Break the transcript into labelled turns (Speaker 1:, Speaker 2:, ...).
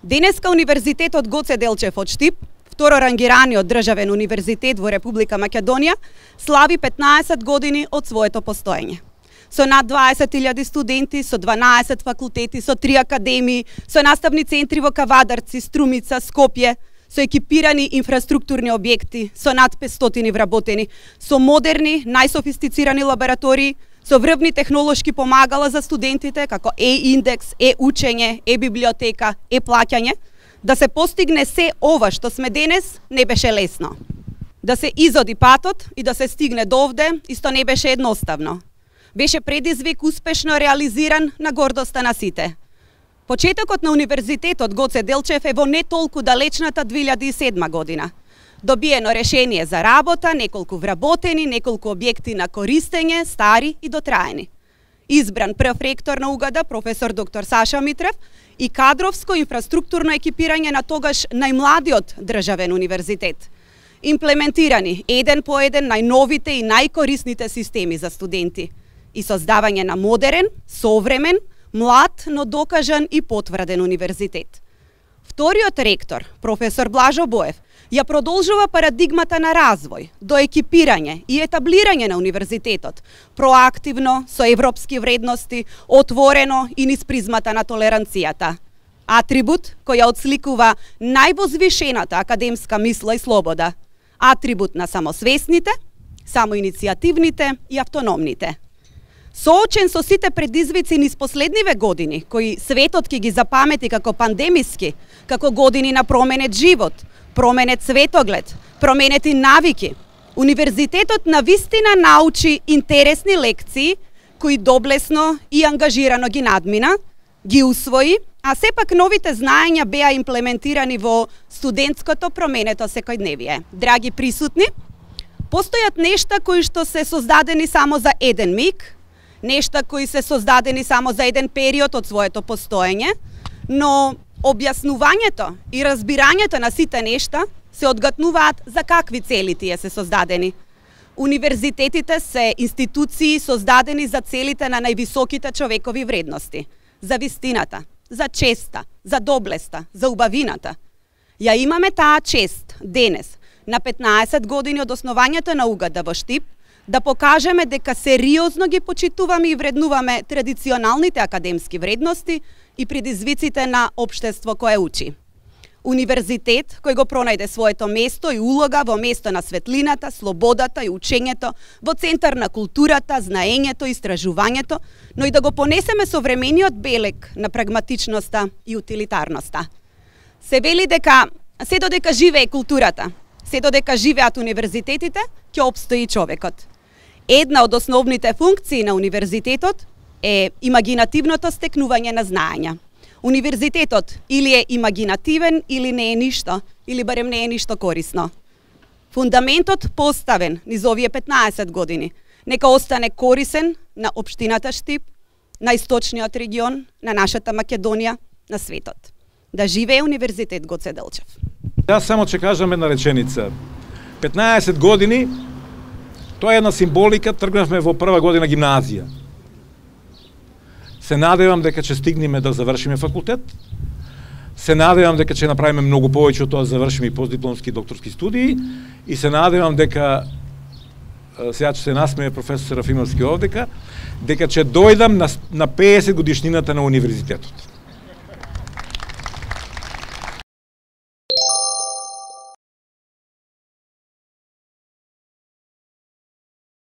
Speaker 1: Денеска Универзитетот Гоце Делчев од Штип, второрангираниот државен универзитет во Република Македонија, слави 15 години од своето постоење. Со над 20.000 студенти, со 12 факултети, со 3 академии, со наставни центри во Кавадарци, Струмица, Скопје, со екипирани инфраструктурни објекти, со над 500 вработени, со модерни, најсофистицирани лаборатории, со врвни технолошки помагала за студентите, како е-индекс, е-учење, е-библиотека, е-плаќање, да се постигне се ова што сме денес, не беше лесно. Да се изоди патот и да се стигне до овде, исто не беше едноставно. Беше предизвик успешно реализиран на гордоста на сите. Почетокот на Универзитетот Гоце Делчев е во не толку далечната 2007 година. Добиено решение за работа, неколку вработени, неколку објекти на користење, стари и дотраени. Избран прв ректор на УГД, професор доктор Саша Митрев, и кадровско инфраструктурно екипирање на тогаш најмладиот државен универзитет. Имплементирани еден по еден најновите и најкорисните системи за студенти и создавање на модерен, современ, млад, но докажан и потврден универзитет. Вториот ректор, професор Блажо Боев, ја продолжува парадигмата на развој, до екипирање и етаблирање на универзитетот, проактивно, со европски вредности, отворено и низ призмата на толеранцијата. Атрибут кој ја отсликува највозвишената академска мисла и слобода. Атрибут на самосвесните, самоиницијативните и автономните. Соочен со сите предизвици низ последниве години, кои светот ќе ги запамети како пандемиски, како години на променет живот, променет светоглед, променети навики, Универзитетот навистина научи интересни лекции, кои доблесно и ангажирано ги надмина, ги усвои, а сепак новите знаења беа имплементирани во студентското променето секојдневие. Драги присутни, постојат нешта кои што се создадени само за еден миг, нешта кои се создадени само за еден период од своето постоење, но објаснувањето и разбирањето на сите нешта се одгатнуваат за какви цели тие се создадени. Универзитетите се институции создадени за целите на највисоките човекови вредности, за вистината, за честа, за доблеста, за убавината. Ја имаме таа чест денес, на 15 години од основањето на УГД во Штип, да покажеме дека сериозно ги почитуваме и вреднуваме традиционалните академски вредности и предизвиците на општество кое учи. Универзитет кој го пронајде своето место и улога во место на светлината, слободата и учењето, во центар на културата, знаењето и истражувањето, но и да го понесеме современиот белег на прагматичноста и утилитарноста. Се вели дека се додека живее културата, се додека живеат универзитетите, ќе обстои човекот. Една од основните функции на универзитетот е имагинативното стекнување на знаења. Универзитетот или е имагинативен, или не е ништо, или барем не е ништо корисно. Фундаментот поставен низ овие 15 години, нека остане корисен на општината Штип, на источниот регион, на нашата Македонија, на светот. Да живее Универзитет Гоце Делчев.
Speaker 2: Јас само ќе кажам една реченица. 15 години, тоа е една символика, тргнавме во прва година гимназија. Се надевам дека ќе стигнеме да завршиме факултет. Се надевам дека ќе направиме многу повеќе од тоа да завршиме и постдипломски и докторски студии. И се надевам дека, сега ќе се насмее професор Серафимовски овдека, дека ќе дојдам на 50 годишнината на универзитетот.